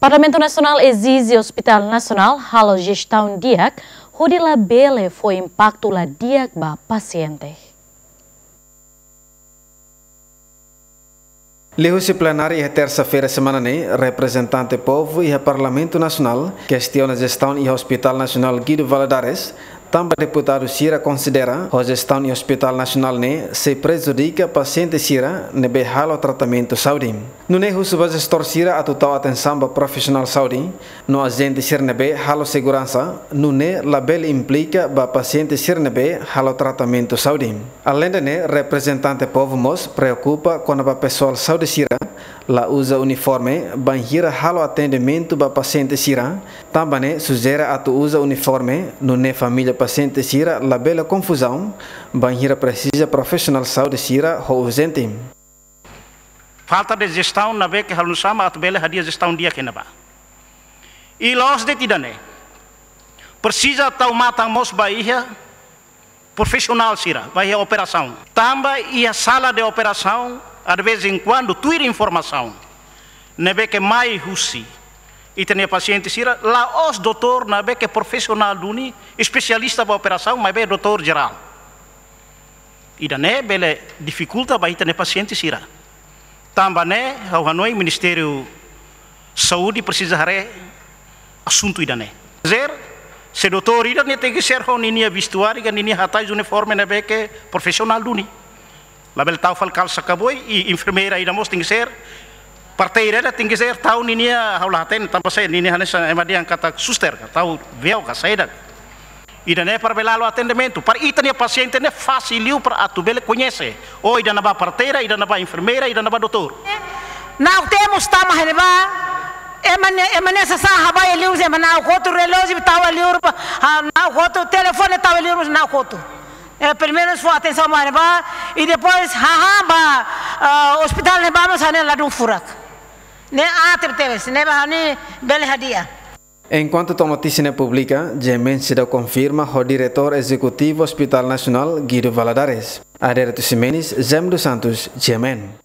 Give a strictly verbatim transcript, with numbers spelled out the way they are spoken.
Parlamentu Nasionál ezije Hospital Nasionál halo jestaun di'ak, hodi labele fó impaktu la di'ak ba pasiente. Liuhusi plenária iha tersa-feira semana ne'e, reprezentante povu iha Parlamentu Nasionál kestiona jestaun iha Hospital Nasionál Guido Valadares, tanba deputadu sira konsidera ho jestaun iha Hospital Nasionál ne'e sei prejudika pasiente sira ne'ebé halo tratamentu saúde. Nune'e husu ba jestór sira atu tau atensaun ba profisionál saúde no ajente sira ne'ebé halo seguransa, nune'e labele implika ba pasiente sira ne'ebé halo tratamentu saúde. Aleinde ne'e, reprezentante povu mós preokupa kona-ba pesoál saúde sira la uza uniforme bainhira halo atendimentu ba pasiente sira, tanba ne'e sujere atu uza uniforme, nune'e família pasiente sira labele konfuzaun bainhira presiza profisionál saúde sira ho urjente. Falta de jestaun ne'ebé ke halo nu'usá mak atu bele hadi'a jestaun di'ak iha ne'ebá. I la'ós de'it ida-ne'e. Presiza tau matan mós ba iha profisionál sira, ba iha operasaun. Tanba iha sala de operasaun, de vez em quando, tuir informasaun ne'ebé ke mai husi ita-nia pasiente sira, la'ós doutór ne'ebé ke profisionál duni, espesialista ba operasaun, maibé doutór jerál. Ida-ne'e bele difikulta ba ita-nia pasiente sira. Tanba ne'e, ha'u hanoin Ministériu Saúde presiza haree asuntu ida-ne'e. Zer, se doutór ida ne'e tenke ser ho ninia vestuáriu, ka ninia hatais uniforme ne'ebé ke profisionál duni. Labele tau fali kalsa kaboin, i enfermeira ida mós tenke ser, parteira ida tenke ser, tau ninia, ha'u la hatene, tanba se ninia hanesan ema dehan katak suster, ka tau véu, ka saida. Ida-ne'e para bele halo atendimentu. Para ita-nia pasiente ne'e fasil liu para atu bele koñese. Oh, ida-ne'ebá parteira, ida-ne'ebá enfermeira, ida-ne'ebá doutór. Na'ok temos tama iha ne'ebá. Ema ne'e, ema ne'e sasán habai liu, ema na'ok hotu relójiu tau liu, ah, na'ok hotu telefone tau liu, na'ok hotu. Eh, primeiru fó atensaun ba ne'ebá, i depois, haha, ba, ah, ospitál ne'ebá mós hanesan ladún furak. Ne'e aat tebetebes, ne'ebá ha'u-nia bele hadi'a. Enkuantu to'o notísia ne'e publika, G M N seidauk konfirma ho Diretór Ezekutivu Hospital Nasionál Guido Valadares. Adérito Ximenes, Zem dos Santos, G M N.